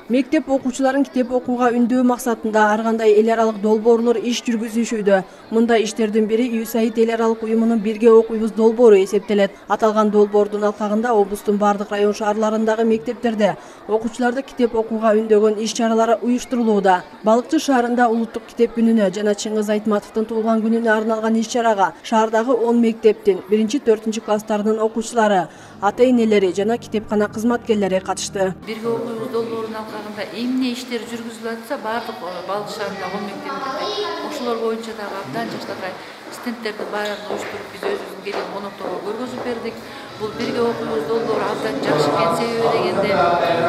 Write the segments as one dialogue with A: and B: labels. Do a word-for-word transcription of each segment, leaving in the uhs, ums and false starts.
A: Мектеп окуучуларын китеп окууга үндөө максатында ар кандай эл аралык долбоорлор иш жүргүзүшүүдө. Мындай иштердин бири ЮСАИД эл аралык уюмунун Бирге окуйбуз долбоору эсептелет. Аталган долбоордун алкагында облустун бардык район шаарларындагы мектептерде окуучуларды китеп окууга үндөгөн иш-чаралары уюштурулууда. Балыкчы шаарында улуттук китеп күнүнө жана Чыңгыз Айтматовдун туулган күнүнө арналган иш-чарага шаардагы он мектептин биринчи төртүнчү класстарынын окуучулары, ата-энелери жана китепкана кызматкерлери катышты.
B: Бирге окуйбуз долбоорунун алкагында эмне иштер жүргүзүлүп атса, бардык Балык шаарындагы он мектептерде ошолор боюнча дагы абдан жакшыркай стендтерди баарын уюштуруп биз өзүбүздүн келген конокторго көргөзүп бердик. Бул Бирге окуйбуз долбоору абдан жакшы экен. Себеби дегенде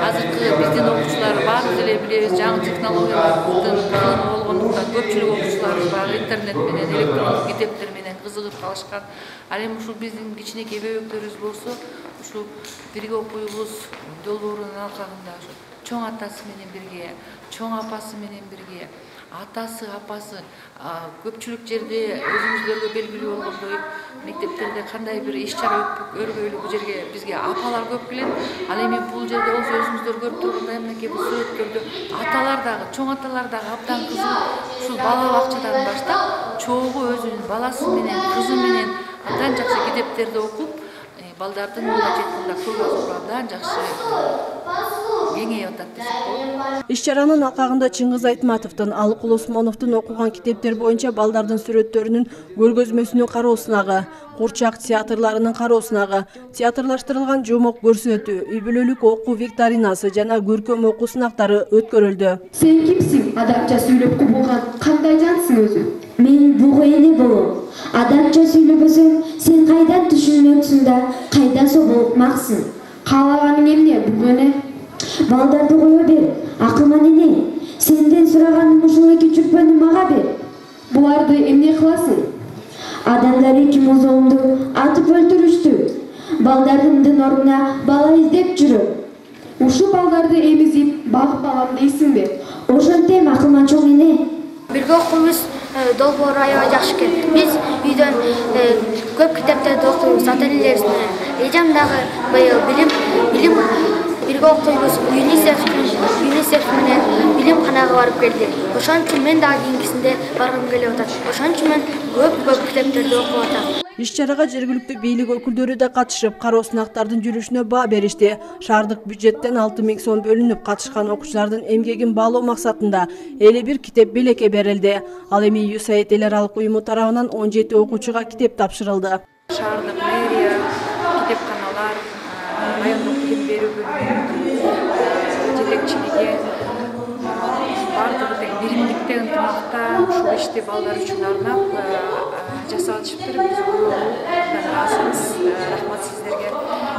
B: азыркы биздин окуучулар баарыбыз эле билебиз, жаңы технологиялардын кызыгы болгондуктан көпчүлүк окуучуларыбыз баягы интернет менен, электрондук китептер менен кызыгып калышкан. Ал эми ушул биздин кичинекей бөбөктөрүбүз болсо, ушул Бирге окуйбуз долбоорунун алкагында чоң атасы менен бирге, чоң апасы менен бирге, атасы, апасы көпчүлүк жерде өзүңүздөргө белгилүү болгондой мектептерде кандай бир иш-чара өрбөйлү бул жерге бизге апалар көп келет. Ал эми бул жерде болсо өзүңүздөр көрүп тургандай мынакей бул сүрөттөрдө аталар дагы, чоң аталар дагы абдан кызыгып ушул бала бакчадан баштап чогуу өзүнүн баласы менен, кызы менен абдан жакшы китептерди окуп, балдардын мындай жеткинде кругозору абдан жакшы кеңейип атат десек болот.
A: Иш-чаранын алкагында Чыңгыз Айтматовдун, Алыкул Осмоновдун окуган китептер боюнча балдардын сүрөттөрүнүн көргөзмөсүнүн кароосунагы, курчак театрларынын кароосунагы, театрлаштырылган жомок көрсөтүү, үй бүлөлүк окуу викторинасы жана көркөм окуу сынактары өткөрүлдү.
C: Сен кимсиң? Адамча сүйлөп кубулган кандай жансың өзү?
D: Мен буга эне болом. Адамча сүйлөбөсөң, сен кайдан түшүнмөксүң да, кайда соболукмаксың?
C: Каалаганың эмне бул эне?
D: Балдарды кое бер, акылман эне. Сенден сураганым ушул эки чүрпөнү мага бер.
C: Буларды эмне кыласың?
D: Адамдар эки музоомду атып өлтүрүштү. Балдарымдын ордуна бала издеп жүрөм.
C: Ушул балдарды эмизип, багып алам дейсиңби?
D: Ошентем, акылман чоң эне.
E: Бирге окуйбуз долбоору аябай жакшы экен. Биз үйдөн көп китептерди окуйбуз, ата-энелерибиз менен. Эжем дагы быйыл билим билим Бирге окуйбуз ЮНИСЕФ ЮНИСЕФ менен билимканага барып келди. Ошон үчүн мен дагы кийинкисинде баргым келип атат. Ошон үчүн мен көп-көп китептерди окуп атам.
A: Иш-чарага жергиликтүү бийлик өкүлдөрү да катышып, кароо сынактардын жүрүшүнө баа беришти. Шаардык бюджеттен алты миң сом бөлүнүп, катышкан окуучулардын эмгегин баалоо максатында элүү бир китеп белекке берилди. Ал эми ЮСАИД эл аралык уюму тарабынан он жети окуучуга китеп тапшырылды.
B: Шаардык мэрия, китепканалар, райондук билим берүү бөлүмүнүн жетекчилиги бардыгы тең биримдикте ынтымакта ушул ишти балдар үчүн арнап жасалышыптыр. Биз көбүнөн ыраазыбыз. Рахмат сиздерге.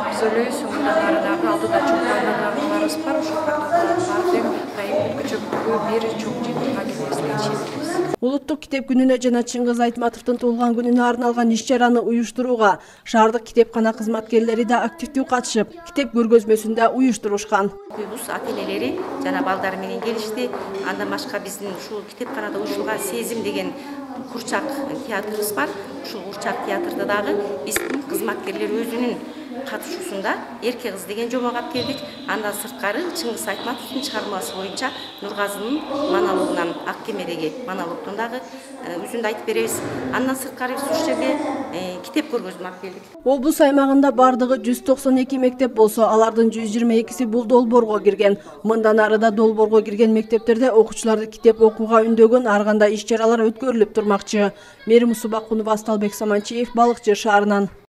B: Биз ойлойбуз мындан ары дагы алдыда чоң программаларыбыз бар. Ошол программалардын баары тең дайым көчөмдүгү бир чоң жыйынтыкка келмесине ишенебиз.
A: Улуттук китеп күнүнө жана Чыңгыз Айтматовдун туулган күнүнө арналган иш-чараны уюштурууга шаардык китепкана кызматкерлери да активдүү катышып, китеп көргөзмөсүн да уюштурушкан.
F: Окуйбуз ата-энелери жана балдар менен келишти. Андан башка биздин ушул китепканада уюштурулган Сезим деген курчак театрыбыз бар. Ушул курчак театрда дагы биздин кызматкерлер өзүнүн катышуусунда Эрке кыз деген жомок алып келдик. Андан сырткары Чыңгыз Айтматовдун чыгармасы боюнча Нургазынын монологунан Ак кемедеги монологдон дагы үзүндү айтып беребиз. Андан сырткары биз ушул жерде китеп көргөзмө алып келдик.
A: Облус аймагында бардыгы жүз токсон эки мектеп болсо, алардын жүз жыйырма экиси бул долбоорго кирген. Мындан ары да долбоорго кирген мектептерде окуучуларды китеп окууга үндөгөн ар кандай иш-чаралар өткөрүлүп турмакчы. Мерим Субакунова, Асталбек Саманчиев, Балыкчы шаарынан.